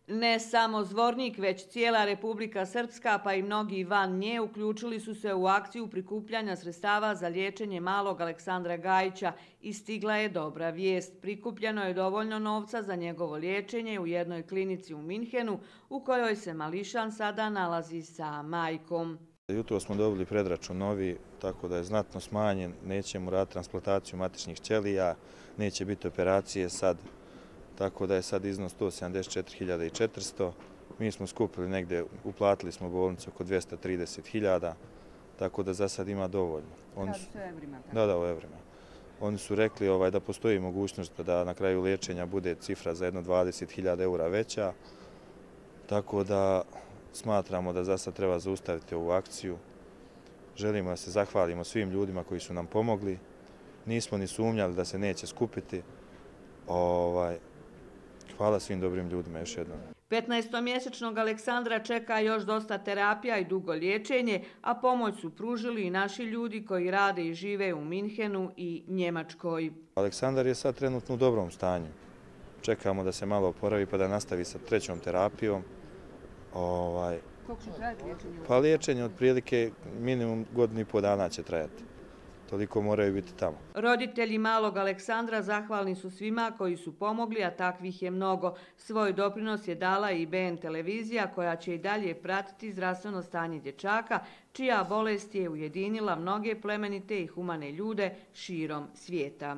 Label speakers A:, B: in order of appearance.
A: Ne samo Zvornik, već cijela Republika Srpska, pa i mnogi van nje uključili su se u akciju prikupljanja sredstava za liječenje malog Aleksandra Gajića i stigla je dobra vijest. Prikupljeno je dovoljno novca za njegovo liječenje u jednoj klinici u Minhenu, u kojoj se mališan sada nalazi sa majkom.
B: Jutro smo dobili predračun novi, tako da je znatno smanjen, nećemo raditi transplantaciju matičnih ćelija, neće biti operacije sad, tako da je sad iznos 174.400. Mi smo skupili negdje, uplatili smo bolnicu oko 230.000, tako da za sad ima dovoljno.
C: Radi se o evrima?
B: Da, o evrima. Oni su rekli da postoji mogućnost da na kraju liječenja bude cifra za jedno 20.000 eura veća, tako da smatramo da za sad treba zaustaviti ovu akciju. Želimo da se zahvalimo svim ljudima koji su nam pomogli. Nismo ni sumnjali da se neće skupiti. Hvala svim dobrim ljudima još jednom.
A: 15-mjesečnog Aleksandra čeka još dosta terapija i dugo liječenje, a pomoć su pružili i naši ljudi koji rade i žive u Minhenu i Njemačkoj.
B: Aleksandar je sad trenutno u dobrom stanju. Čekamo da se malo oporavi pa da nastavi sa trećom terapijom.
C: Koliko će trajati liječenje?
B: Pa liječenje otprilike minimum godinu i pol dana će trajati. Toliko moraju biti tamo.
A: Roditelji malog Aleksandra zahvalni su svima koji su pomogli, a takvih je mnogo. Svoj doprinos je dala i BN televizija koja će i dalje pratiti zdravstveno stanje dječaka, čija bolest je ujedinila mnoge plemenite i humane ljude širom svijeta.